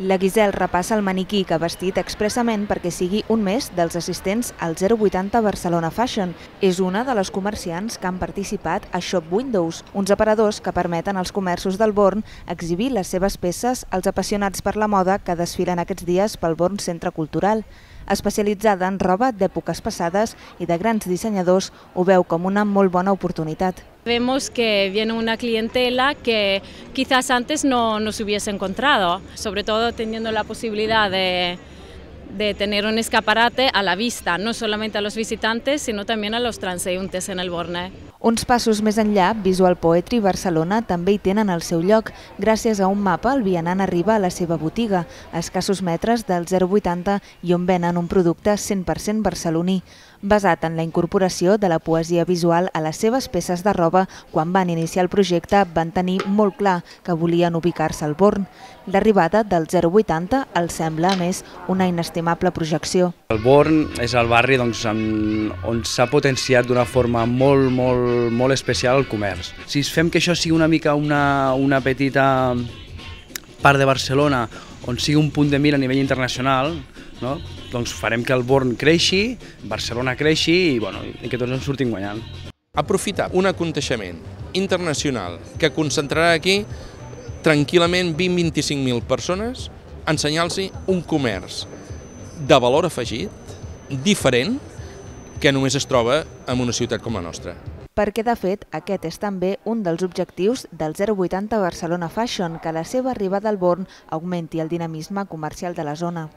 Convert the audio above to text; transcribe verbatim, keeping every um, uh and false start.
La Guisel repassa el maniquí que ha vestit expressament perquè sigui un més dels assistents al zero vuitanta Barcelona Fashion. És una de les comerciants que han participat a Shop Windows, uns aparadors que permeten als comerços del Born exhibir les seves peces als apassionats per la moda que desfilen aquests dies pel Born Centre Cultural. Especialitzada en roba d'èpoques passades i de grans dissenyadors, ho veu com una molt bona oportunitat. Vemos que viene una clientela que quizás antes no nos hubiese encontrado, sobre todo teniendo la posibilidad de, de tener un escaparate a la vista, no solamente a los visitantes, sino también a los transeúntes en el Born. Uns passos més enllà, Visual Poetry Barcelona també hi tenen el seu lloc. Gràcies a un mapa, el vianant arriba a la seva botiga, a escassos metres del zero vuitanta i on venen un producte cent per cent barceloní, basat en la incorporació de la poesia visual a les seves peces de roba. Quan van iniciar el projecte van tenir molt clar que volien ubicar-se al Born. L'arribada del zero vuitanta els sembla, a més, una inestimable projecció. El Born és el barri doncs, on s'ha potenciat d'una forma molt, molt, molt especial el comerç. Si fem que això sigui una mica una, una petita part de Barcelona on sigui un punt de mira a nivell internacional, no? Doncs farem que el Born creixi, Barcelona creixi i, bueno, i que tots ens sortim guanyant. Aprofitar un aconteixement internacional que concentrarà aquí tranquil·lament vint a vint-i-cinc mil persones, ensenyar-los un comerç de valor afegit, diferent, que només es troba en una ciutat com la nostra. Perquè, de fet, aquest és també un dels objectius del zero vuitanta Barcelona Fashion, que la seva arribada al Born augmenti el dinamisme comercial de la zona.